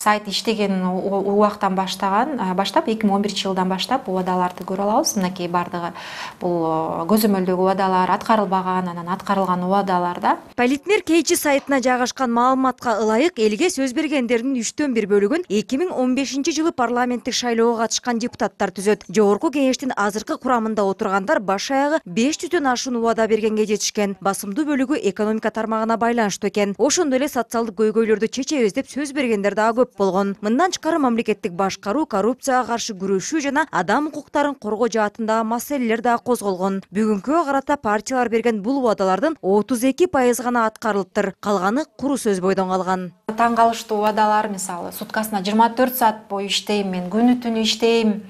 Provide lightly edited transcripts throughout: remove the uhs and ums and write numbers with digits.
сайт иштеген убактан баштап 2011-жылдан баштап убадаларды көрө алабыз. Мынакей бардыгы бул көзөмөлдөгү убадалар, аткарылбаган, анан аткарылган убадаларда. Политмер KG сайтына жайгашкан маалыматка ылайык, элге сөз бергендердин 3/1 бөлүгүн 2015-жылы парламенттик шайлоого катышкан депутаттар түзөт. Жогорку кеңештин азыркы курамында отургандар баш аягы 500дөн ашуун убада бергенге жетишкен. Басымдуу бөлүгү экономика тармагына байланыштуу экен. Ошондой эле социалдык көйгөйлөрдү чечебиз деп сөз бергендер дагы көп болгон. Мындан тышкары мамлекеттик башкаруу, коррупцияга каршы күрөшүү жана адам укуктарын коргоо жаатындагы маселелер дагы козголгон. Бүгүнкүгө карата партиялар берген бул убадалардын 32% гана аткарылыптыр. Калганы куру сөз бойдон калган. Таң калыштуу убадалар, мисалы, суткасына 24 саат бою иштейм, мен күнү түнү иштейм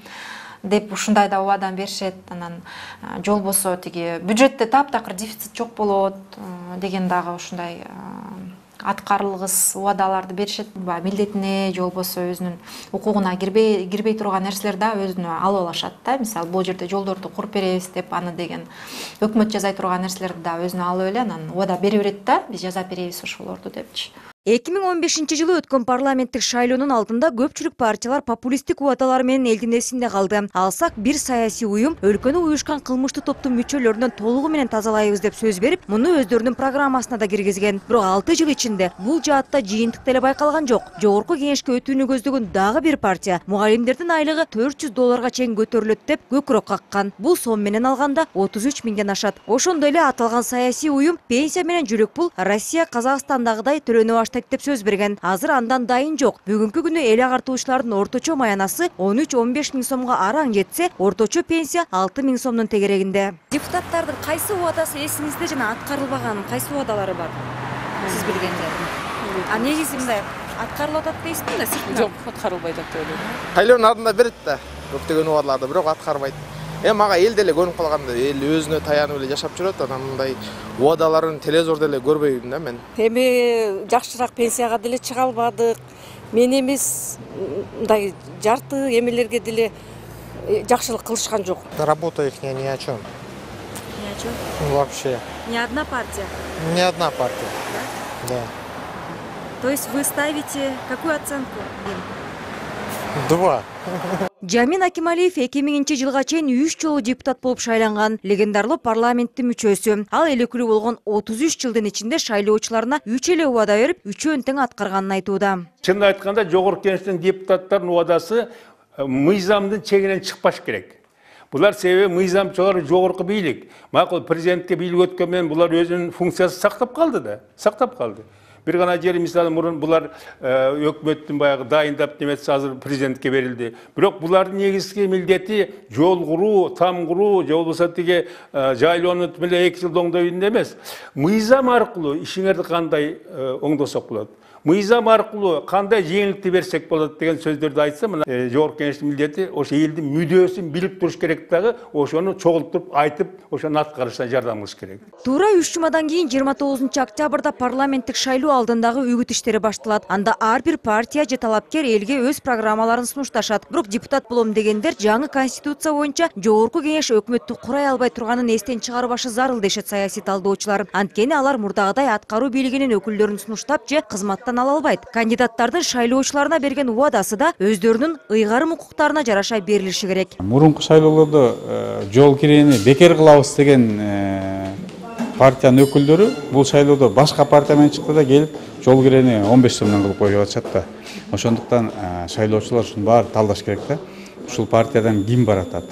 деп ушундай да убадан беришет. Анан жолбосо тиги бюджетте таптакыр дефицит жок болот деген дагы ушундай аткарылгыс убадаларды беришет. Милдетине жолбосо өзүнүн укугуна кирбей турган нерселер да өзүнө алып алышат да. Мисалы, бул жерде жолдорду куруп беребиз деп аны деген өкмөт жазай турган нерселерди да өзүнө алып эле анан убада бере берет да, биз жасап беребиз ошолорду депчи. 2015-жылы өткөн парламенттик шайлоонун алдында көпчүлүк партиялар популисттик убадалар менен элдин эсинде калды. Алсак, бир саясий уюм өлкөнү уюшкан кылмыштуу топтун мүчөлөрүнөн толугу менен тазалайбыз деп сөз берип, муну өздөрүнүн программасына да киргизген. Бирок 6 жыл ичинде бул жаатта жыйынтык деле байкалган жок. Жогорку кеңешке өтүүнү көздөгөн дагы бир партия мугалимдердин айлыгы $400 чейин көтөрүлөт деп көкүрөк каккан. Бул сом менен алганда 33 миңден ашат. Ошондой эле аталган саясий уюм пенсия менен жүрөк пул Россия, Казакстандагыдай төлөнө баштайт деп сөз берген. Азыр андан дайын жок. Бүгүнкү күнү эл агартуучулардын орточо маянасы 13-15 миң сомго араң жетсе, орточо пенсия 6 миң сомдун тегерегинде. Депутаттардын кайсы убадасы эсиңизде жана аткарылбаган кайсы убадалары бар? Сиз билгенде. А негизи мындай аткарылып атат дейсизби да сыртынан? Жок, аткарылбайт деп ойлойм. Шайлоонун алдында берет да, көптөгөн убадаларды, бирок аткарбайт. Мага эл деле көрүнүп калганда, эл өзүнө таянып эле жашап жүрөт, анан мындай убадаларын телевизордо эле көрбөйм да мен. Эми жакшыраак пенсияга деле чыга албадык. Мен эмес мындай жарты эмелерге деле жакшылык кылышкан жок. Работа их ни о чем. Ни о чем? Вообще. Ни одна партия? Ни одна партия. Да. То есть вы ставите какую оценку им? 2. Жамин Акималиев 2000-жылга чейин 3 жолу депутат болуп шайланган легендарлуу парламенттин мүчөсү. Ал эл өкүлү болгон 33 жылдын ичинде шайлоочуларына 3 эле убада берип, 3-өн тең аткарганын айтууда. Чынын айтканда, жогорку кеңештин депутаттарынын убадасы мыйзамдын чегинен чыкпаш керек. Булар себеби мыйзамчылар жогорку бийлик. Макул президентке бийлик өткөн менен булар өзүнүн функциясын сактап калды да, сактап калды. Бир гана жери мисалы мурун булар өкмөттүн баягы дайындап неметсе азыр президентке берилди. Бирок булардын негизги милдети жол куруу, там куруу, же болбосо тиги жайлоону меле 2 жылда оңдойбун эмес. Мыйзам аркылуу ишиңерди кандай оңдосок болот? Мыйзам аркылуу кандай жеңилдик берсек болот деген сөздөрдү айтса, мына жогорку кеңештин милдети ошо элдин мүдөөсүн билип туруш керек дагы, ошону чогултуп айтып, ошону аткарышына жардам кылыш керек. Туура 3 жумадан кийин 29-октябрда парламенттик шайлоо алдындагы үгүт иштери башталат. Анда ар бир партия же талапкер элге өз программаларын сунушташат. Бирок депутат болом дегендер жаңы конституция боюнча жогорку кеңеш өкмөттү курай албай турганын эстен чыгарбашы зарыл дешет саясий талдоочулар. Анткени алар мурдагыдай аткаруу бийлигинин өкүлдөрүн сунуштап же кызматтан ала албайт. Кандидаттардын шайлоочуларына берген убадасы да өздөрүнүн ыйгарым укуктарына жараша берилиши керек. Мурунку шайлоолордо жол кирени бекер кылабыз деген партиянын өкүлдөрү бул шайлоодо башка партия менен чыкты да келип жол кирени 15 сомдон кылып коюп атышат да. Ошондуктан шайлоочулар ушуну баарын талдаш керек да. Ушул партиядан ким баратат?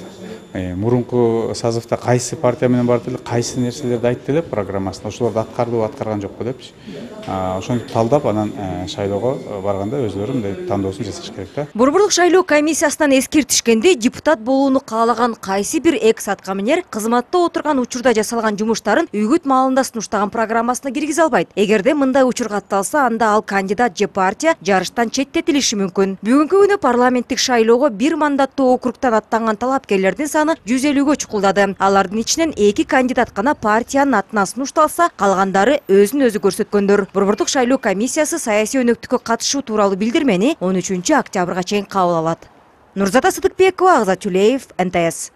Мурунку созывда кайсы партия менен барды эле, кайсы нерселерди айтты эле программасында, ошолорду аткарды, аткарган жокпу депчи. Ошону талдап анан шайлоого барганда өздөрү мындай тандоосун жасаш керек да. Борборлук шайлоо комиссиясынан эскертишкенде депутат болууну каалаган кайсы бир экс аткаминер кызматта отурган учурда жасалган жумуштарын үгүт маалында сунуштаган программасына киргизе албайт. Эгерде мындай учур катталса, анда ал кандидат же партия жарыштан четтетилиши мүмкүн. Бүгүнкү күнү парламенттик шайлоого бир мандаттуу округтан аттанган талапкерлердин саны 150-гө чукулдады. Алардын ичинен 2 кандидат гана партиянын атына сунушталса, калгандары өзүн өзү көрсөткөндөр. Борборлук шайлоо комиссиясы саясий өнөктүккө катышуу тууралуу билдирмени 13-октябрга чейин кабыл алат. Нурзата Сыдыкбекова, Агзат Чулеев, НТС.